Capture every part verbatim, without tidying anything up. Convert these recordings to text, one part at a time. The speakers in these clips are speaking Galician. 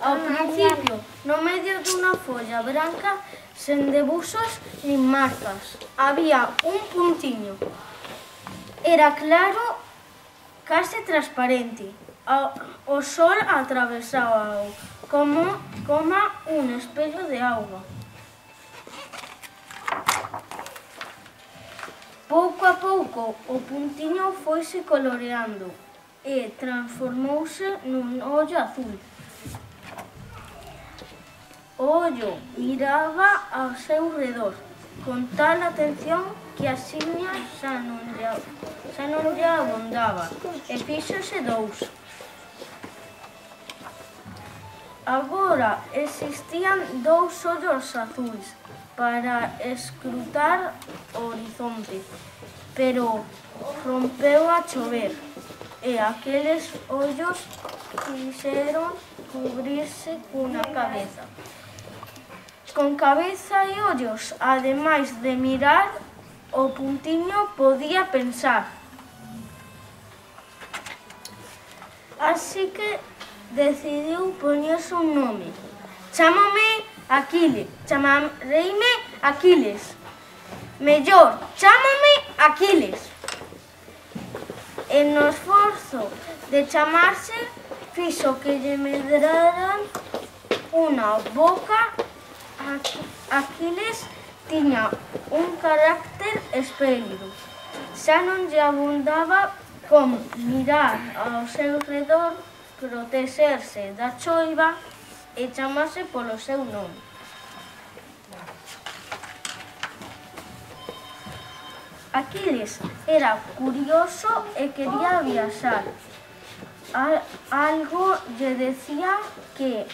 Ao principio, no medio dunha folla branca, sen debuxos nin marcas, había un puntiño. Era claro, case transparente. O sol atravesaba como, como un espello de auga. Pouco a pouco o puntiño foise coloreando e transformouse nun ollo azul. O ollo miraba ao seu redor con tal atención que a xiña xa non lle, xa non lle abondaba e fíxose dous. Agora existían dous ollos azuis para escrutar o horizonte, pero rompeu a chover e aqueles ollos quixeron cubrirse cunha cabeza. Con cabeza e ollos, ademais de mirar, o puntiño podía pensar. Así que decidiu poñerse un nome. Chámome Aquiles, chamareime Aquiles. Mellor, chámome Aquiles. E no esforzo de chamarse, fixo que lle medraran unha boca. Aquiles tiña un carácter espléndido. Xa non lle abondaba con mirar ao seu redor, protexerse da choiva e chamarse polo seu nome. Aquiles era curioso e quería viaxar. Algo lle decía que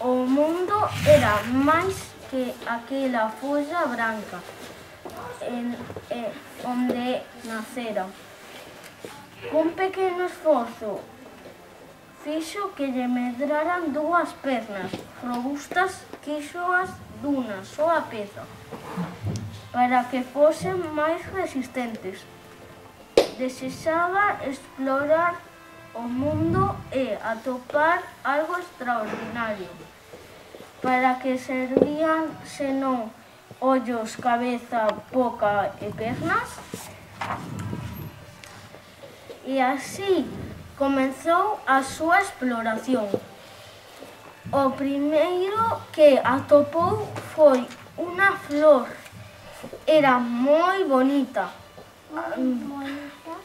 o mundo era máis que aquela folla branca en, en, onde nacera. Cun pequeno esforzo fixo que lle medraran dúas pernas robustas, quixoas dunha soa peza, para que fosen máis resistentes. Desexaba explorar o mundo e atopar algo extraordinario. Para que servían senón ollos, cabeza, boca e pernas? E así comezou a súa exploración. O primeiro que atopou foi unha flor. Era moi bonita,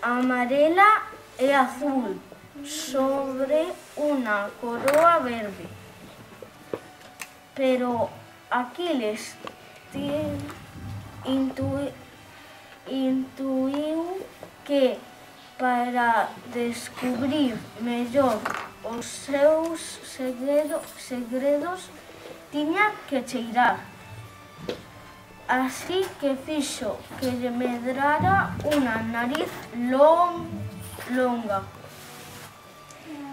amarela e azul, sobre unha coroa verde. Pero Aquiles intuiu que para descubrir mellor os seus segredos tiña que cheirar. Así que fixo que lle medrara unha nariz longa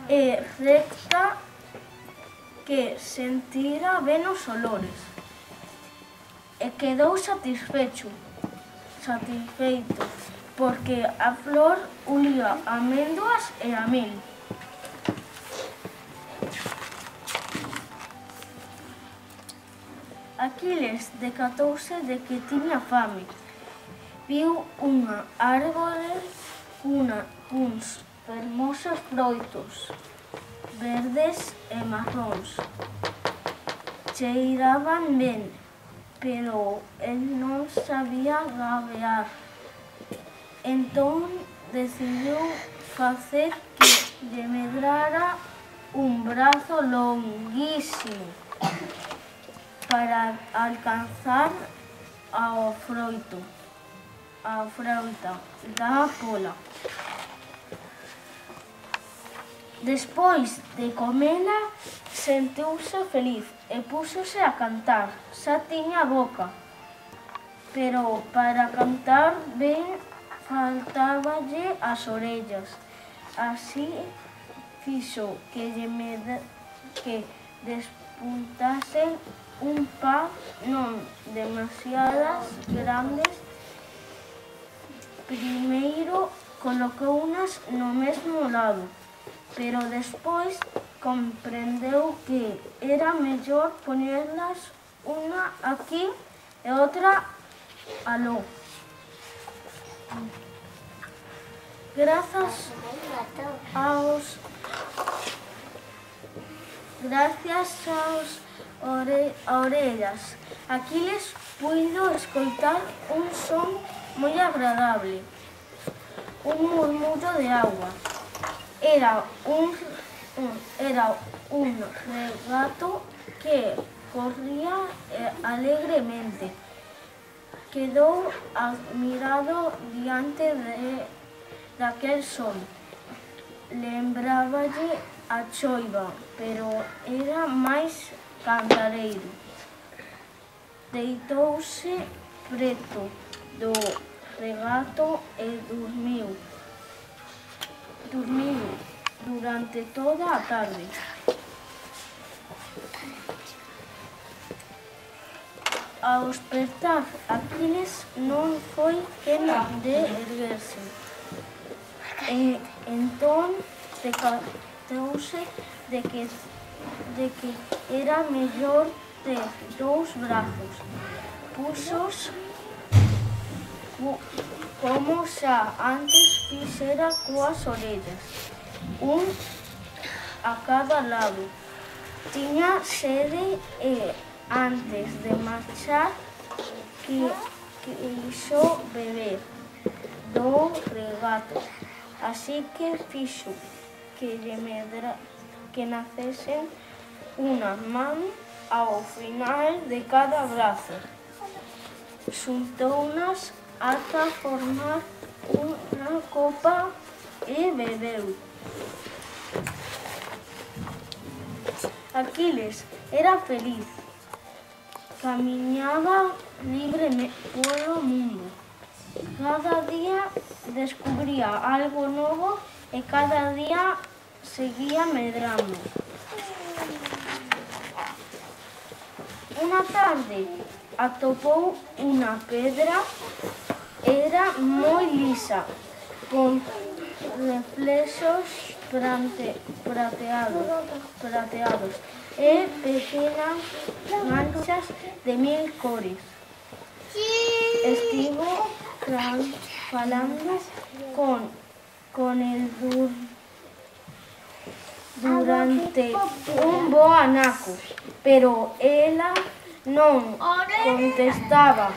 e recta que sentira ben os olores. E quedou satisfecho, satisfeito, porque a flor ulía améndoas e a mel. Aquiles decatouse de que tiña fame. Viu unha árbore cunha, cuns fermosos froitos verdes e marróns. Cheiraban ben, pero el non sabía gabear. Entón decidiu facer que lle medrara un brazo longuísimo para alcanzar ao froito, a froita da pola. Despois de comela, sentiuse feliz e púxose a cantar. Xa tiña boca, pero para cantar ben faltáballe as orellas. Así fixo que lle medra, que despuntasen un par non demasiadas grandes. Primeiro colocounas no mesmo lado, pero despois comprendeu que era mellor ponerlas unha aquí e outra aló. Grazas aos gracias aos ore, orellas, Aquiles puido escoitar un son moi agradable, un murmullo de agua. Era un, un, era un regato que corría alegremente. Quedou admirado diante de daquel son. Lembráballe a choiva, pero era máis cantareiro. Deitouse preto do regato e dormiu. Dormiu durante toda a tarde. Ao despertar, Aquiles non foi quen de erguerse. E entón decatouse de que, de que era mellor ter dous brazos. Puxos como xa antes fixera coas orellas, un a cada lado. Tiña sede e antes de marchar que quixo beber do regato, así que fixo que lle medra, que nacesen unha man ao final de cada brazo. Xuntounas ata formar unha copa e bebeu. Aquiles era feliz. Camiñaba libre polo mundo. Cada día descubría algo novo e cada día seguía medrando. Unha tarde atopou unha pedra, era moi lisa, con reflexos prateados, prateados e pequenas manchas de mil cores. Estivo falando con, con el dur, durante un bo anaco, pero ela non contestaba.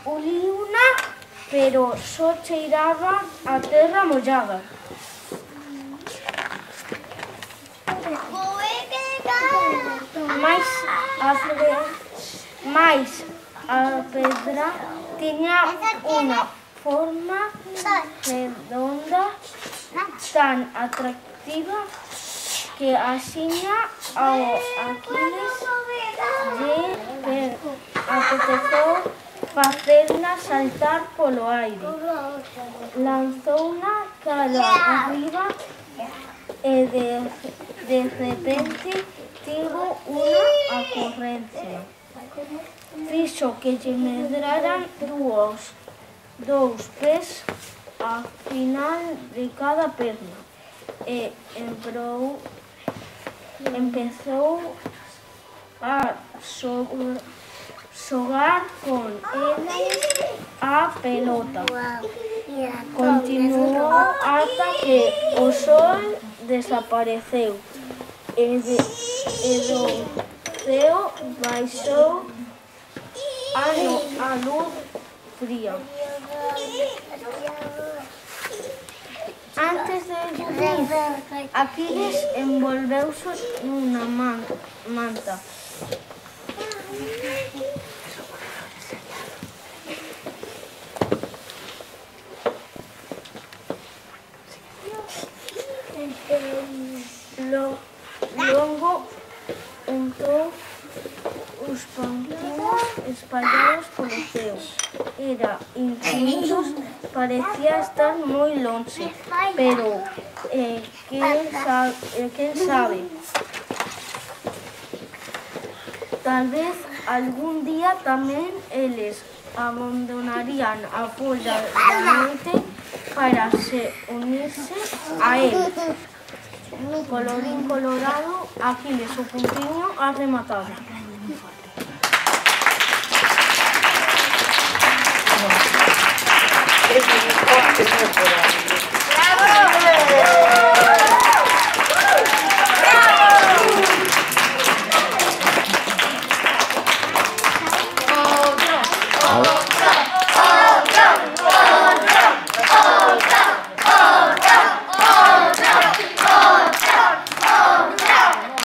Uliuna, pero só cheiraba a terra mollada. Mais a, mais a pedra tiña unha forma redonda tan atractiva que axiña ao Aquiles lle apeteceu facerla saltar polo aire. Lanzouna cara arriba e de, de repente tivo unha ocurrencia. Fixo que lle medraran dúos, dous pés a final de cada perna e emprou, empezou a xogar con eles a pelota. Continuou ata que o sol desapareceu e, de, e do ceo baixou a, no, a luz fría. Antes de dormir, Aquiles envolveuse nunha man, manta. Lo, logo untou os pantinos espallados polo ceo. Era infinitos, parecía estar moi lonxe, pero eh, quen, sabe, eh, quen sabe? Tal vez algún día tamén eles abandonarían a folla da noite para se unirse a él. Colorín colorado, Aquiles o puntiño a rematar. Es